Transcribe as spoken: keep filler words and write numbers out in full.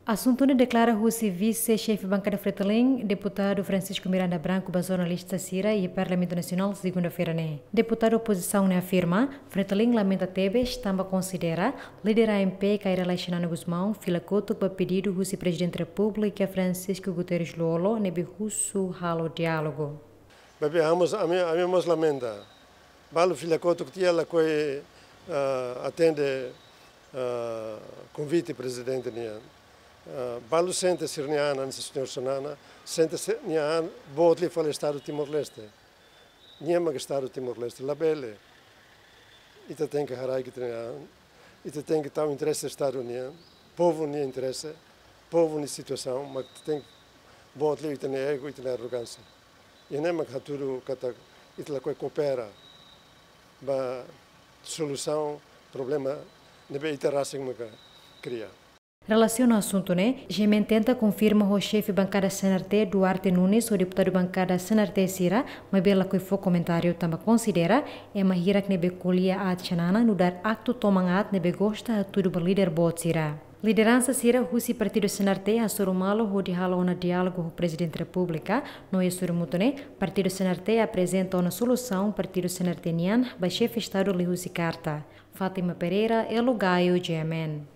Asuntu ne'e deklara husi vise-xefe bankada Fretilin, deputadu Francisco Miranda Branco, ba jornalista sira iha Parlamentu Nasionál, segunda-feira ne'e. Deputadu opozisaun ne'e afirma, Fretilin lamenta tebes tanba konsidera líder A M P Kay Rala Xanana Gusmão fila kotuk ba pedidu husi Prezidente Repúblika Francisco Guterres Lú-Olo ne'ebé husu halo diálogu. Maibé ami mós, ami, ami mós lamenta. Balu fila kotuk tiha lakohi, ah, atende, ah, konvite prezidente nian. Ah, balu sente sira-nia an, hanesan señór Xanana, sente sira-nia an, boot liu fali Estadu Timor-Leste. Nia mak Estadu Timor-Leste, labele. Ita tenke haraik ita-nia an, ita tenke tau interese Estadu nian, povu nia interese, povu nia situasaun, mak ita tenke boot liu ita-nia ego, ita-nia arrogánsia. Ida-ne'e mak hatudu katak ita lakohi koopera ba solusaun problema ne'ebé ita rasik maka kria. Relasiona asuntu ne'e, G M N tenta konfirma ho xefe bankada C N R T, Duarte Nunes, ho deputadu bankada C N R T sira, maibé lakohi fó komentáriu tanba konsidera ema hirak ne'ebé ko'alia aat Xanana nu'udar aktu toman aat ne'ebé gosta hatudu ba líder boot sira. Lideransa sira husi partidu C N R T hasoru malu hodi halo ona diálogu ho Prezidente Repúblika, no iha sorumutu ne'e, partidu C N R T aprezenta ona solusaun partidu C N R T nian ba xefe Estadu liuhusi karta. Fátima Pereira, Elo Gaio, G M N.